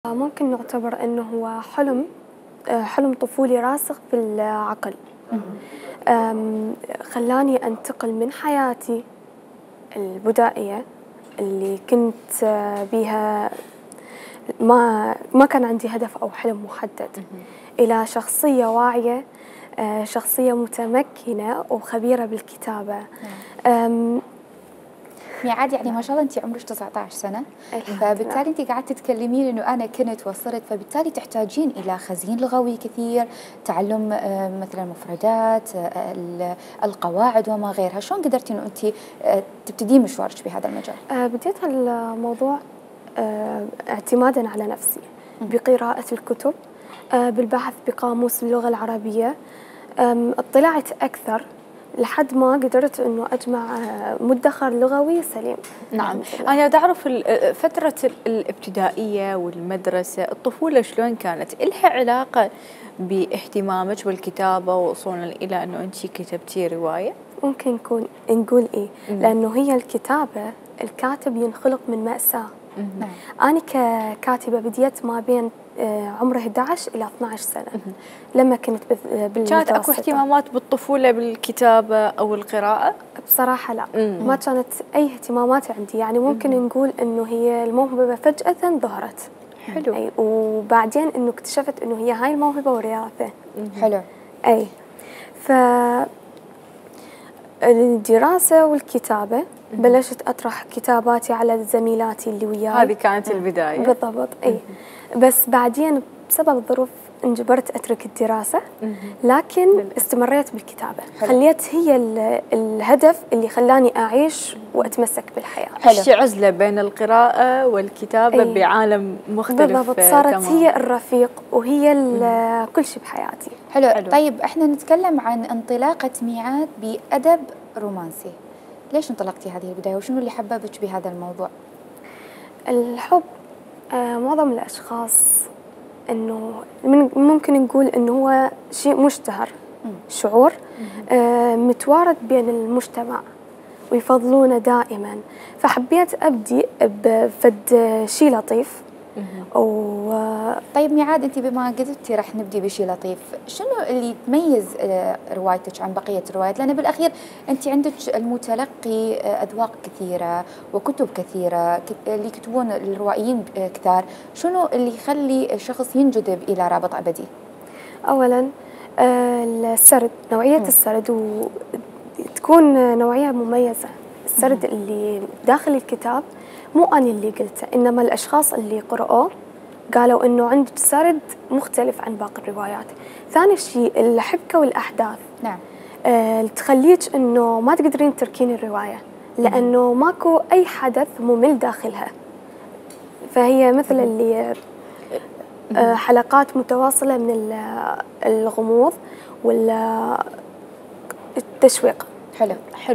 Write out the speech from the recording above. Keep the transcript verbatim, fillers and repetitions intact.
ممكن نعتبر أنه هو حلم حلم طفولي راسخ في العقل. خلاني أنتقل من حياتي البدائية اللي كنت بيها ما ما كان عندي هدف أو حلم محدد إلى شخصية واعية، شخصية متمكنة وخبيرة بالكتابة. ميعاد يعني ما شاء الله أنت عمرك تسعة عشر سنة، فبالتالي أنت قاعدة تتكلمين إنه أنا كنت وصلت، فبالتالي تحتاجين إلى خزين لغوي كثير، تعلم مثلا مفردات، القواعد وما غيرها. شلون قدرتي إنه أنت تبتدين مشوارك بهذا المجال؟ بديت الموضوع اعتمادا على نفسي بقراءة الكتب، بالبحث بقاموس اللغة العربية، اطلعت أكثر لحد ما قدرت انه اجمع مدخر لغوي سليم. نعم، انا بدي اعرف فتره الابتدائيه والمدرسه، الطفوله شلون كانت؟ إلها علاقه باهتمامك بالكتابه ووصولا الى انه انت كتبتي روايه؟ ممكن نكون نقول ايه، لانه هي الكتابه الكاتب ينخلق من مأساة. أنا ككاتبة بديت ما بين عمر أحد عشر إلى اثني عشر سنة لما كنت بالمتوسطة. كانت أكو اهتمامات بالطفولة بالكتابة أو القراءة؟ بصراحة لا، مم. ما كانت أي اهتمامات عندي، يعني ممكن مم. نقول إنه هي الموهبة فجأة ظهرت. حلو. أي، وبعدين إنه اكتشفت إنه هي هاي الموهبة وراثة. حلو. أي، ف الدراسة والكتابة بلشت أطرح كتاباتي على زميلاتي اللي وياي. هذه كانت البداية بالضبط. أي، بس بعدين بسبب الظروف انجبرت أترك الدراسة، لكن استمريت بالكتابة. حلو. خليت هي الهدف اللي خلاني أعيش وأتمسك بالحياة. عشتي عزلة بين القراءة والكتابة. أي. بعالم مختلف. بالضبط، صارت تمام. هي الرفيق وهي كل شيء بحياتي. حلو. حلو. طيب احنا نتكلم عن انطلاقة ميعاد بأدب رومانسي. ليش انطلقتي هذه البداية وشنو اللي حببك بهذا الموضوع؟ الحب، آه معظم الأشخاص إنه ممكن نقول إنه هو شيء مشتهر، مم. شعور آه متوارد بين المجتمع ويفضلونه دائما، فحبيت أبدي بفد شيء لطيف. و... طيب ميعاد، أنت بما قلتي راح نبدي بشيء لطيف، شنو اللي تميز روايتك عن بقية الروايات؟ لأن بالأخير أنت عندك المتلقي أذواق كثيرة وكتب كثيرة، اللي يكتبون الروائيين كثار، شنو اللي يخلي الشخص ينجذب إلى رابط أبدي؟ أولا السرد، نوعية م. السرد، وتكون نوعية مميزة. السرد م. اللي داخل الكتاب مو أنا اللي قلته، إنما الأشخاص اللي قرأوه قالوا إنه عندك سرد مختلف عن باقي الروايات. ثاني شيء الحبكة والأحداث. نعم. آه تخليك إنه ما تقدرين تركين الرواية، لأنه ماكو أي حدث ممل داخلها. فهي مثل اللي آه حلقات متواصلة من الغموض والتشويق. حلو. حلو.